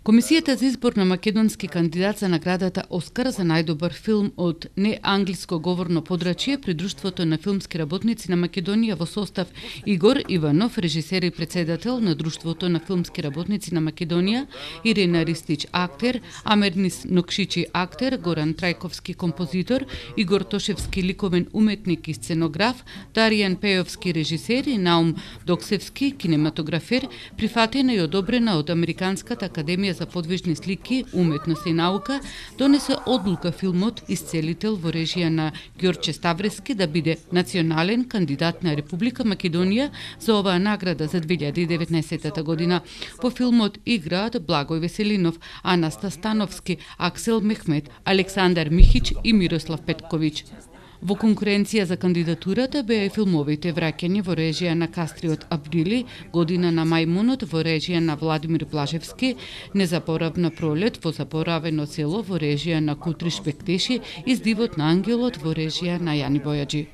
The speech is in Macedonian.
Комисијата за избор на македонски кандидат за наградата Оскар за најдобар филм од неанглиско говорно подрачје при Друштвото на филмски работници на Македонија во состав Игор Иванов, режисер и председател на Друштвото на филмски работници на Македонија, Ирина Ристич, актер, Амернис Нокшичи, актер, Горан Трајковски, композитор, Игор Тошевски, ликовен уметник и сценограф, Даријан Пејовски, режисер и Наум Доксевски, кинематографер, прифатена и одобрена од Американската академија за подвижни слики, уметност и наука, донесе одлука филмот Исцелител во режија на Ѓорче Ставрески да биде национален кандидат на Република Македонија за оваа награда за 2019 година. По филмот играат Благој Веселинов, Анаста Становски, Аксел Мехмет, Александар Михич и Мирослав Петковиќ. Во конкуренција за кандидатурата беа и филмовите Враќање во режија на Кастриот Априли, Година на мајмунот во режија на Владимир Блажевски, Незаборавна пролет во заборавено село во режија на Кутриш Бектеши и Здивот на ангелот во режија на Јани Бојаджи.